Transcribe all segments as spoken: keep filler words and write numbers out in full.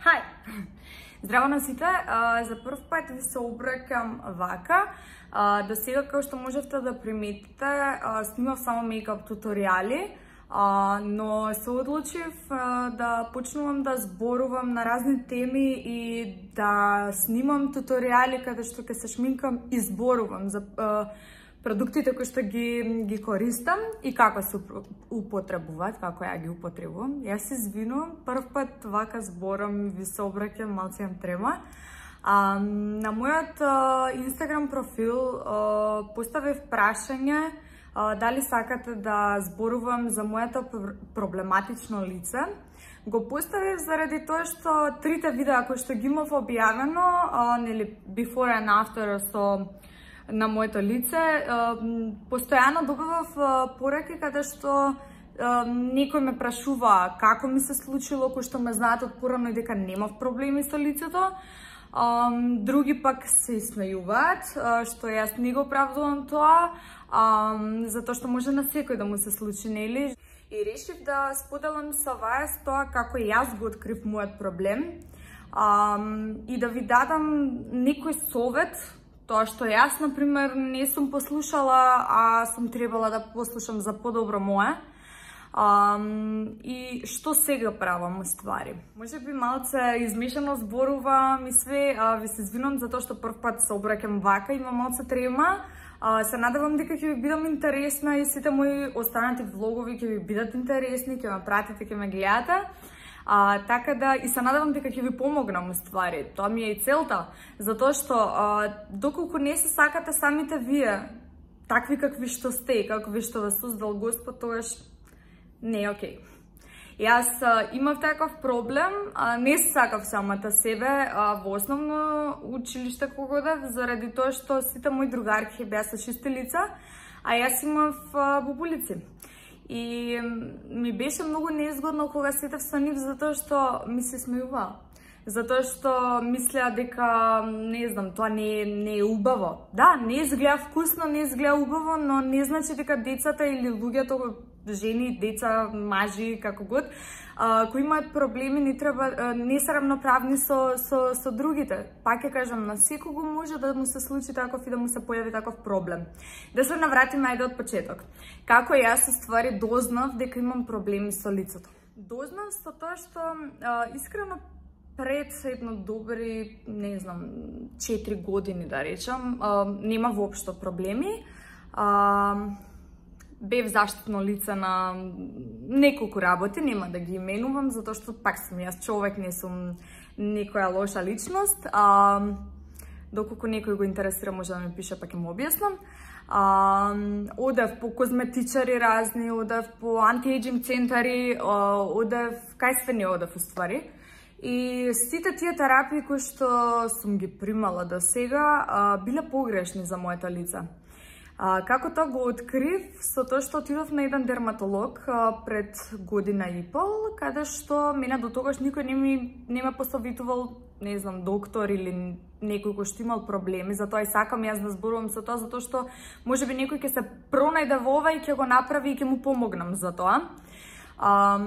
Хај! Здраво на сите, за прв пат ви се обраќам вака. До сега, како што можевте да приметите, снимав само мейкап туторијали, но се одлучив да почнувам да зборувам на разни теми и да снимам туторијали каде што ќе се шминкам и зборувам за продуктите кои што ги, ги користам и како се употребуваат, како ја ги употребувам. Јас се извинувам, прв пат вака зборам, ви се обраќам, малце имам трема. А, на мојот Инстаграм профил а, поставив прашање а, дали сакате да зборувам за моето проблематично лице. Го поставив заради тоа што трите видеа кои што ги имав објавено, а, нели before and after со на моето лице, постојано добивав пораки каде што некој ме прашува како ми се случило, кој што ме знаат од порано и дека немав проблеми со лицето. Други пак се смејуваат, што јас не го оправдувам тоа, затоа што може на секој да му се случи, нели? И решив да споделам со вас тоа како јас го открив мојот проблем и да ви дадам некој совет. Тоа што јас, например, не сум послушала, а сум требала да послушам за подобро мое. Um, и што сега правам, ствари? Може би малце измешано зборувам и све, а, ви се извинувам за тоа што прв пат се обраќам вака, имам малце трема. А, се надевам дека ќе ви бидам интересна и сите мои останати влогови ќе ви бидат интересни, ќе ме пратите, ќе ме гледате. А, така да, и се надевам дека ќе ви помогнам, ствари. Тоа ми е и целта. Затоа што, а, доколку не се сакате самите вие, такви какви што сте, какви што вас создал Господ, тогаш не е окей. Јас а, имав таков проблем, а, не се сакав самата себе а, во основно училиште кога одев, заради тоа што сите мои другарки беа со чисти лица, а јас имав а, бубулици. И ми беше многу неизгодно кога сетев со нив, затоа што ми се смејуваа. Затоа што мислеа дека, не знам, тоа не, не е убаво. Да, не изгледа вкусно, не изгледа убаво, но не значи дека децата или луѓето, жени, деца, мажи, како год, а, кои имаат проблеми, не треба, не се равноправни со, со, со другите. Пак ќе кажам, на секого може да му се случи таков и да му се појави таков проблем. Да се навратиме ајде од почеток. Како јас ствари дознав дека имам проблеми со лицето? Дознав со тоа што а, искрено пред едно добри, не знам, четири години да речам, а, нема воопшто проблеми. А, бев заштитно лице на неколку работи, нема да ги именувам, затоа што пак сум јас човек, не сум некоја лоша личност. А, доколку некој го интересира, може да ми пише, па ќе му објаснам. А, одев по козметичари разни, одев по антиејджинг центари, одев, кај све не одев уствари. И сите тие терапии кои што сум ги примала до сега, биле погрешни за моето лице. А, како тоа го открив со тоа што отидов на еден дерматолог а, пред година и пол, каде што мене до тогаш никој не ми не ме посоветувал, не знам, доктор или некој кој што имал проблеми, затоа и сакам јас да зборувам со тоа, затоа што можеби некој ќе се пронајде во ова и ќе го направи и ќе му помогнам за тоа. А,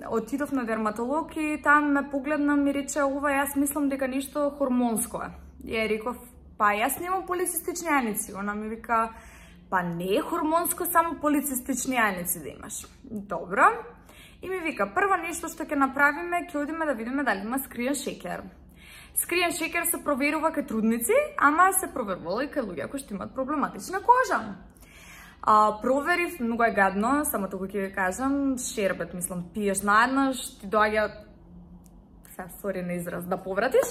отидов на дерматолог и там ме погледна, ми рече, ова јас мислам дека нешто хормонско е. Ја реков, па јас немам полицистични јаници. Она ми вика, па не е хормонско, само полицистични јаници да имаш. Добро. И ми вика, прво нешто што ќе направиме, ќе одиме да видиме дали има скриен шекер. Скриен шекер се проверува кај трудници, ама се проверувало и кај луѓе кои што имаат проблематична кожа. А, проверив, многу е гадно, само тоа ќе ви кажам, шербет, мислам, пиеш наеднаш, ти доаѓа, сега, сори на израз, да повратиш,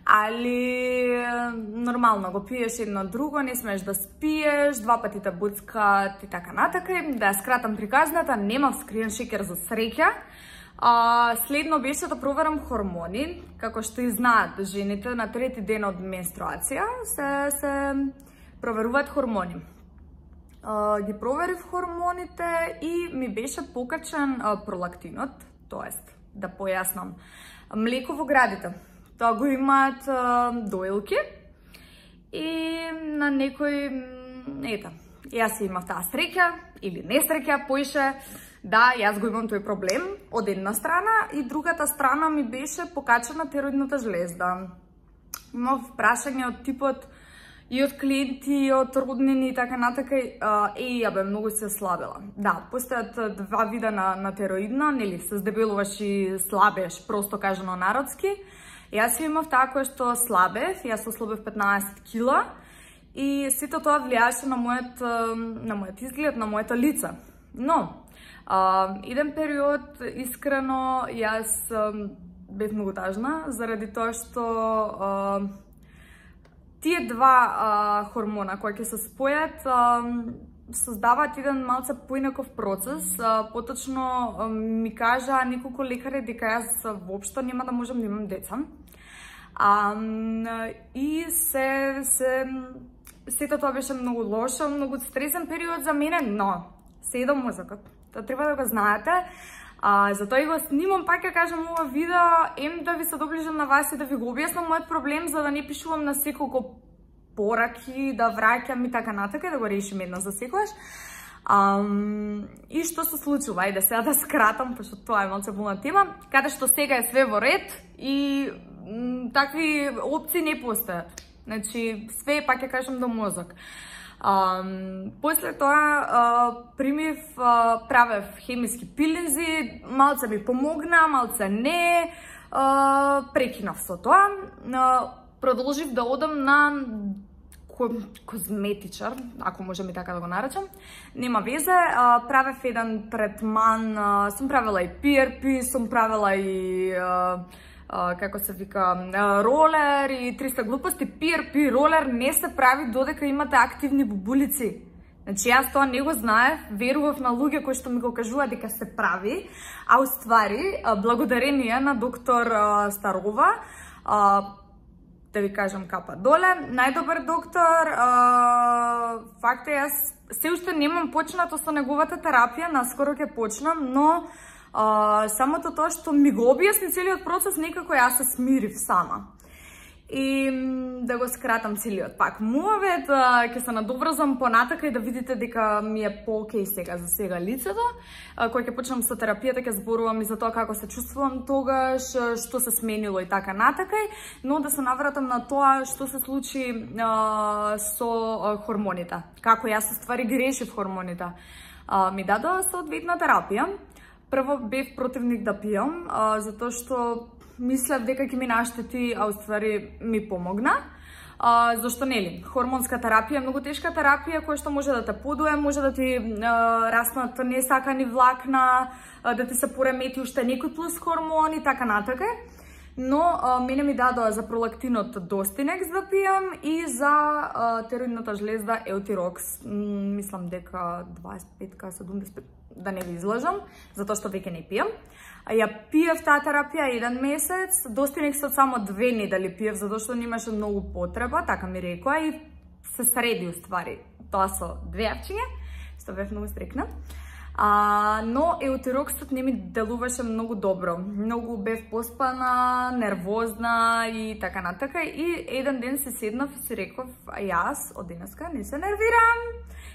али нормално го пиеш едно друго, не смееш да спиеш, два пати те буцкат и така натака. Да ја скратам приказната, немав скриен шекер за среќа. А, следно беше да проверам хормони, како што и знаат жените на трети ден од менструација се, се проверуваат хормони. Uh, ги проверив хормоните и ми беше покачен uh, пролактинот, тоест, да појаснам, млеко во градите. Тоа го имаат uh, доилки и на некој, ета, јас имав таа среќа или несреќа, поише Да, јас го имам тој проблем од една страна и другата страна ми беше покачена тироидната жлезда. Имав прашање од типот и од клиенти, и од роднини и така натака, еј, ја бе, многу се слабела. Да, постојат два вида на, на тироидна, нели, се здебелуваш и слабеш, просто кажано народски. Јас имав таа која што слабев, јас ослабев петнаесет кила и сето тоа влијаше на мојот, на мојот изглед, на моето лице. Но, а, еден период, искрено, јас а, бев многу тажна, заради тоа што а, тие два а, хормона кои ќе се спојат а, создаваат еден малце поинаков процес. А, поточно а, ми кажа неколку лекари дека јас воопшто нема да можам да имам деца. А, и се, се, сето тоа беше многу лошо, многу стресен период за мене, но се едо мозокот. Тоа треба да го знаете. А, затоа и го снимам, пак ја кажам, ова видео, ем да ви се доближам на вас и да ви го објаснам мојот проблем, за да не пишувам на секолку пораки, да враќам и така натака, да го решим едно за секојаш. Um, и што се случува? Ајде сега да скратам, пошто тоа е малце болна тема, каде што сега е све во ред и м, такви опции не постојат. Значи, све пак ја кажам до мозок. Um, после тоа uh, примив, uh, правев хемиски пилинзи, малце ми помогна, малце не, uh, прекинав со тоа. Uh, продолжив да одам на козметичар, ако можем и така да го наречам. Нема везе, uh, правев еден третман, uh, сум правила и пи ар пи, сум правила и uh, Uh, како се вика, uh, ролер и триста глупости. Пи ар пи ролер не се прави додека имате активни бубулици. Значи, јас тоа не го знаев, верував на луѓе кои што ми го кажува дека се прави, а уствари, uh, благодарение на доктор uh, Старова, uh, да ви кажам капа доле, најдобар доктор, uh, факт е, јас се уште немам почнато со неговата терапија, наскоро ќе почнам, но Uh, самото тоа што ми го објасни целиот процес, некако јас се смирив сама. И да го скратам целиот пак муавет, uh, ќе се надоврзам понатака и да видите дека ми е по-окей сега за сега лицето. Uh, кој ќе почнам со терапијата, ќе зборувам и за тоа како се чувствувам тогаш, што се сменило и така натакај, но да се навратам на тоа што се случи uh, со uh, хормоните. Како јас ствари ги решив хормоните. Uh, ми дадоа соодветна терапија. Прво бев противник да пијам, а, затоа што мислев дека ќе ми наштети, а уствари ми помогна. А, зашто нели? Хормонска терапија е многу тешка терапија која што може да те подуе, може да ти а, раснат несакани влакна, а, да ти се поремети уште некој плюс хормони, така натака. Но а, мене ми дадоа за пролактинот Достинекс да пијам и за а, тироидната жлезда Еутирокс. М, мислам дека дваесет и пет седумдесет и пет, да не ви излажам, затоа што веќе не пијам. А ја пиев таа терапија еден месец, Достинексот само две недели пиев, затоа што немаше многу потреба, така ми рекоа, и се среди уствари тоа со две авчиња, што бев многу стрикна. А, но Еутироксот не ми делуваше многу добро. Многу бев поспана, нервозна и така натака. И еден ден се седнав и си реков, а јас од денеска не се нервирам.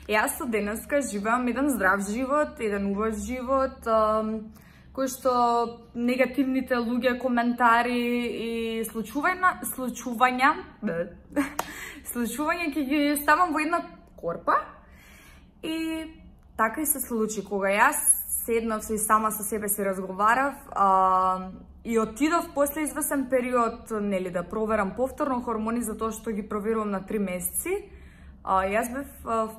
Јас од денеска живеам еден здрав живот, еден убав живот, кој што негативните луѓе, коментари и случувања, случувања, случувања ќе ги ставам во една корпа. И така и се случи, кога јас седнав и сама со себе си разговарав а, и отидов после извесен период, нели, да проверам повторно хормони, затоа што ги проверувам на три месеци. А, јас бев,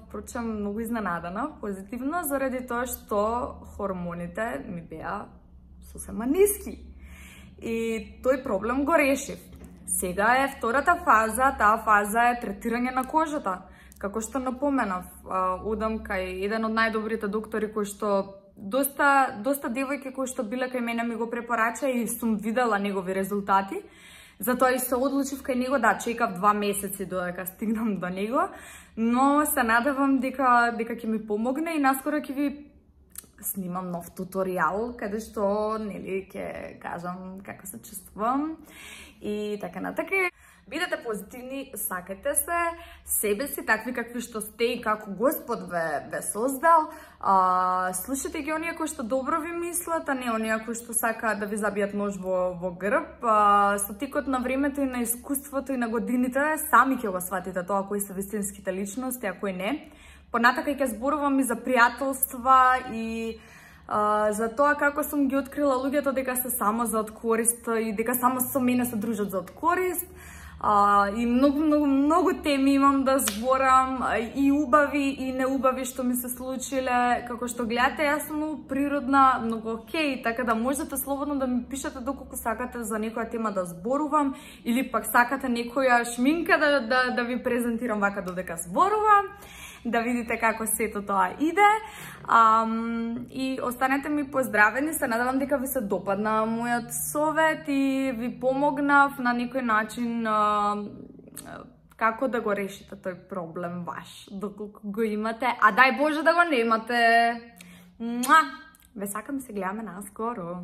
впрочем, многу изненадана, позитивно, заради тоа што хормоните ми беа сосема ниски. И тој проблем го решив. Сега е втората фаза, таа фаза е третирање на кожата. Како што напоменав, одам кај еден од најдобрите доктори кои што доста доста девојки кои што биле кај мене ми го препорача и сум видела негови резултати. Затоа и се одлучив кај него, да, чекав два месеци додека стигнам до него, но се надевам дека дека ќе ми помогне и наскоро ќе ви снимам нов туторијал каде што, нели, ќе кажам како се чувствувам и така натака. Бидете позитивни, сакате се, себе си, такви какви што сте и како Господ ве, ве создал. А, слушате ги оние кои што добро ви мислат, а не оние кои што сакаат да ви забијат нож во, во грб. А, со тикот на времето и на искуството и на годините, сами ќе го сватите тоа кои се вистинските личности, а кои не. Понатака ќе зборувам и за пријателства и а, за тоа како сум ги открила луѓето дека се само за откорист и дека само со мене се дружат за откорист. Uh, и многу, многу, многу теми имам да зборам, и убави и неубави што ми се случиле. Како што гледате, јас сум многу природна, многу окей, така да можете слободно да ми пишете доколку сакате за некоја тема да зборувам, или пак сакате некоја шминка да, да, да ви презентирам вака додека зборувам, да видите како сето тоа иде. Um, и останете ми поздравени, се надевам дека ви се допадна мојот совет и ви помогнав на некој начин uh, како да го решите тој проблем ваш, доколку го имате, а дај Боже да го немате. Муа! Ве сакам, се гледаме наскоро.